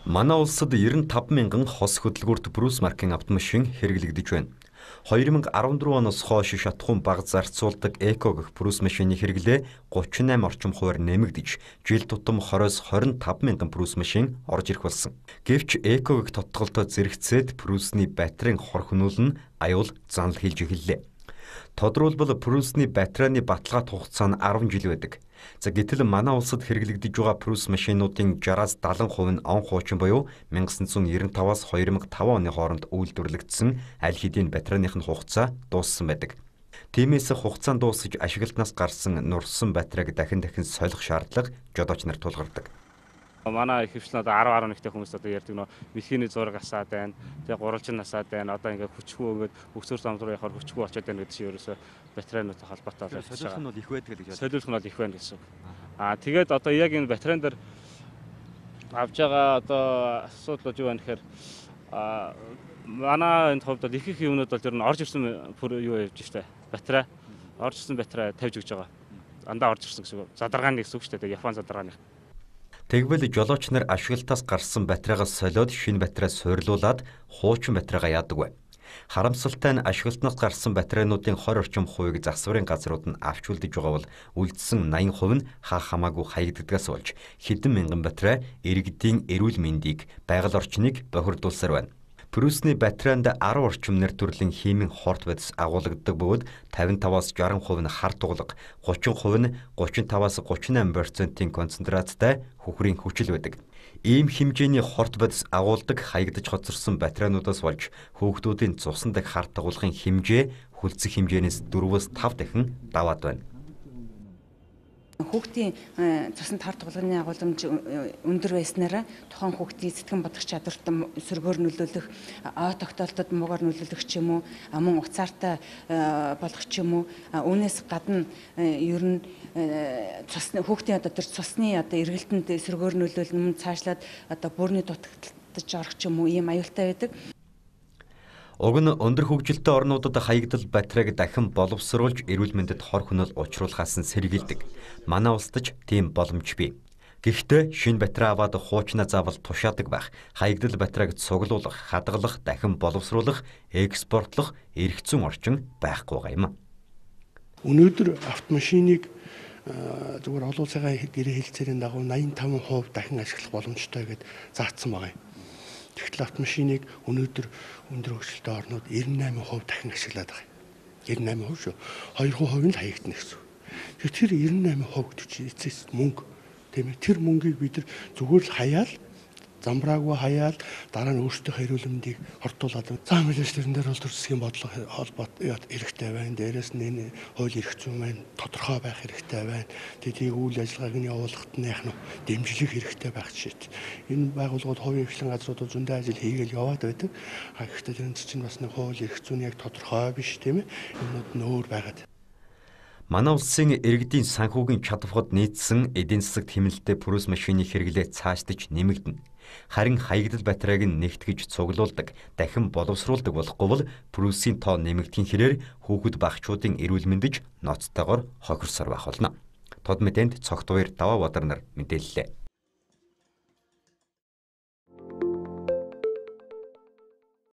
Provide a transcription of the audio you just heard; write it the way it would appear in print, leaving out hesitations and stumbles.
Манай улсад 95 мянган хос хөдөлгүүрт Брус маркын автомашин хэрэглэгдэж байна. 2014 оноос хойш шатахуун бага зарцуулдаг эко гэх Брус машины хэрэглээ 38 орчим хувиар нэмэгдэж, жил тутам 20-25 мянган Брус машин орж ирэх болсон. Гэвч эко гэх тодголтой зэрэгцээд Брусны батарейн хор хөнөөлн аюул занал хийлж эхэллээ. Тодорхойлбол Брусны батарейны баталгаат хугацаа нь 10 жил байдаг. Гэтэл манай улсад хэрэглэгдэж байгаа Брус машинуудын 60-70% нь он хуучин буюу 1995-аас 2005 оны хооронд үйлдвэрлэгдсэн аль хэдийн батарейных нь хугацаа дууссан байдаг. Тиймээс хугацаа дуусаж ашиглалтнаас гарсан нурсан батарейг дахин солих шаардлага жолооч нарт тулгардаг. Манай ихэвчлэн 10-11-тэй хүмүүс ярьдаг нөө мэлхийний зураг асаад байна. Тэгээ гурвалжин насаад байна. Одоо ингээ хүчгүй өгөөд өгсөр самдруу яхаар хүчгүй болчиход байна гэдэг чинь ерөөсөө батарейнуудтай холбоотой болж байгаа. Солиулах нь бол их байдаг гэж байна. Солиулах нь бол их байна гэсэн. Тэгээд одоо яг энэ батарейн дээр авж байгаа одоо асуудал юу вэ гэхээр манай энэ хувьд их юмнууд бол ер нь орж ирсэн юу явж штэ. Батарей орж ирсэн батарей тавьж өгч байгаа. Андаа орж ирсэн гэсэн үг. Задаргааны гэсэн үг штэ. Япон задаргааны. Тэгвэл жолооч нар ашиглалтаас гарсан батарейгаас солиод шинэ батарей суйрлуулад хуучин батарейгаа яадаг вэ? Харамсалтай нь ашиглалтнаас гарсан батарейнуудын 20 орчим хувийг засварын газрууд нь авч үлдэж байгаа бол үлдсэн 80% нь хамаагүй хаягддагаас болж хэдэн мянган батарей иргэдийн эрүүл мэндийг, байгаль орчныг бохирдуулсаар байна. Брусны батарейнд 10 орчим нэр төрлийн химийн хорт бодис агуулгадаг бөгөөд 55-аас 60% нь харт углаг, 30% нь 35-аас 38% концентрацтай хөхрийн хүчил байдаг. Ийм хэмжээний хорт бодис агуулдаг хаягдж хоцорсон батарейнуудаас болж хүүхдүүдийн цусан дэх харт агуулгын хэмжээ хүлцэх хэмжээнээс 4-өөс 5 дахин даваад байна. Хүүхдийн цуснд харт угалганы агуулмж өндөр байснараа тухайн хүүхдийн сэтгэн бодох чадварт сөргөөр нөлөөлөх, ой тогтоолтод муугаар нөлөөлөх ч юм уу, мөн уцаартай болох ч юм уу, үүнээс гадна ер нь цусны хүүхдийн одоо тэр цусны одоо эргэлтэнд сөргөөр нөлөөлнө, цаашлаад одоо бүрний дутагдж орох ч юм уу ийм аюултай байдаг. Уг нь өндөр хөгжилтэй орнуудад хаягдал батарейг дахин боловсруулж эрүүл мэндэд хор хөнөөл учруулахаас нь сэргийлдэг. Манай улсад ч тийм боломж бий. Гэхдээ шинэ батарей аваад хуучнаа заавал тушаадаг байх, хаягдал батарейг цуглуулах, хадгалах, дахин боловсруулах, экспортлох эрх зүйн орчин байхгүй байгаа юм. Өнөөдөр автомашиныг зүгээр олон улсын гэрээ хэлцээрийн дагуу 85% дахин ашиглах боломжтой гэдээ заасан байгаа юм. Тэгтэл автомашиныг өнөөдөр өндөр хөгжилтэй орнууд 98% дахин ашиглаад байгаа юм. 98% шүү. 2% нь хаягдана гэсэн. Тэр 98% гэдэг чинь эцэс мөнгө. Тийм ээ. Тэр мөнгийг бид нар зүгээр л хаяал, замбраагүй хаяал, дараа нь өөрсдийнхөө эрүүл мэндийг хортуулаад зам хэлж тэрэн дээр бол төр засгийн бодлого холбоот хэрэгтэй байна. Дээрээс нь энэ хууль эрх зүйн маань тодорхой байх хэрэгтэй байна. Тэдийг үйл ажиллагааг нь явуулахад нь яах нь дэмжлэх хэрэгтэй байх жишээ. Энэ байгууллагууд хувийн хвшлэн газруудад зөндөө ажил хийгээл яваад байдаг. Гэхдээ тэрэн чинь бас нэг хууль эрх зүйн яг тодорхой биш тийм ээ. Юмнууд нөөр байгаад. Манай улсын иргэдийн санхүүгийн чадварт нийцсэн эдийн засаг тэмнэлтэд Брус машины хэрэглээ цаашдаж нэмэгдэнэ. Харин хаягдал батарейг нь нэгтгэж цуглуулдаг, дахин боловсруулдаг болохгүй бол Брусийн тоо нэмэгдэхин хэрээр хүүхэд багчуудын эрүүл мэндэд ноцтойгоор хохирсоор байх болно. Тод мэдээнд цогт 2 даваа бодар нар мэдээллээ.